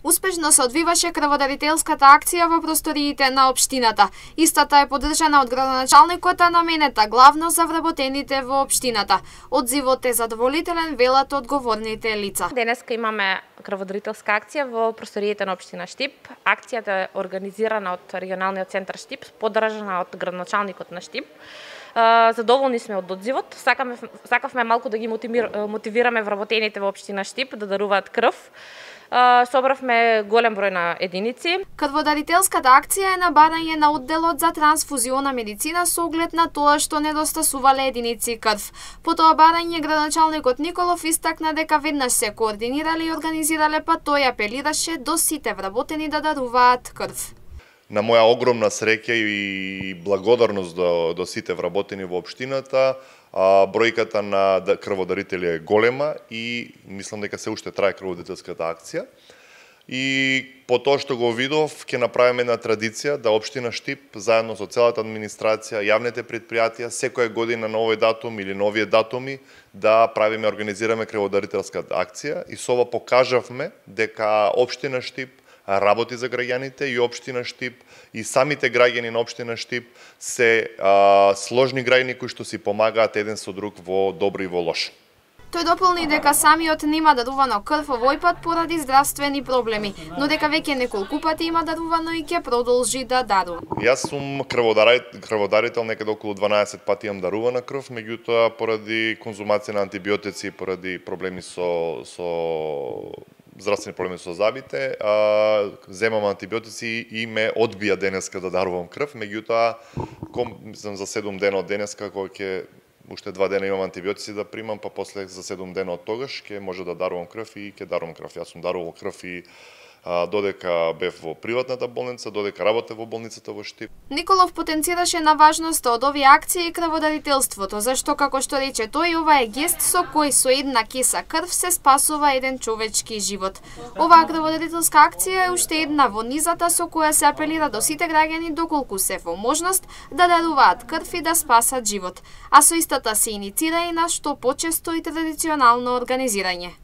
Успешно се одвиваше крводарителската акција во просториите на општината. Истата е поддржана од градоначалникот, а наменета главно за вработените во општината. Одзивот е задоволителен, велат одговорните лица. Денеска имаме крводарителска акција во просториите на општина Штип. Акцијата е организирана од регионалниот центар Штип, поддржана од градоначалникот на Штип. Задоволни сме од одзивот. Сакавме малку да ги мотивираме вработените во општина Штип да даруваат крв. Собравме голем број на единици. Крводарителската акција е на барање на одделот за трансфузиона медицина со оглед на тоа што недостасувале единици крв. По тоа барање градоначалникот Николов истакна дека веднаш се координирале и организирале, па тој апелираше до сите вработени да даруваат крв. На моја огромна среќа и благодарност до сите вработени во општината, бројката на крводарители е голема и мислам дека се уште трае крводарителската акција. И по тоа што го видов, ќе направиме една традиција да општина Штип заедно со целата администрација, јавните предпријатија секоја година на овој датум или на овие датуми да правиме, организираме крводарителска акција и со ова покажавме дека општина Штип работи за граѓаните и општина Штип и самите граѓани на општина Штип се сложни граѓани кои што си помагаат еден со друг во добро и во лошо. Тој дополни дека самиот нема дарувано крв овој пат поради здравствени проблеми, но дека веќе неколку пати има дарувано и ќе продолжи да дарува. Јас сум крводарител, некаде околу 12 пати имам дарувана крв, меѓутоа поради конзумација на антибиотици, поради проблеми со здравствени проблеми со зъбите, земам антибиотици и ме одбија денеска да дарувам крв, меѓутоа мислам за 7 дена од денеска кога ќе уште 2 дена имам антибиотици да примам, па после за 7 дена од тогаш ќе може да дарувам крв и ќе дарувам крв. Јас сум дарувал крв и додека бев во приватната болница, додека работев во болницата во Штип. Николов потенцираше на важноста од овие акции и крводарителството, зашто како што рече тој, ова е гест со кој со една кеса крв се спасува еден човечки живот. Оваа крводарителска акција е уште една во низата со која се апелира до сите граѓани доколку се во можност да даруваат крв и да спасат живот, а со истата се иницира и на што почесто и традиционално организирање.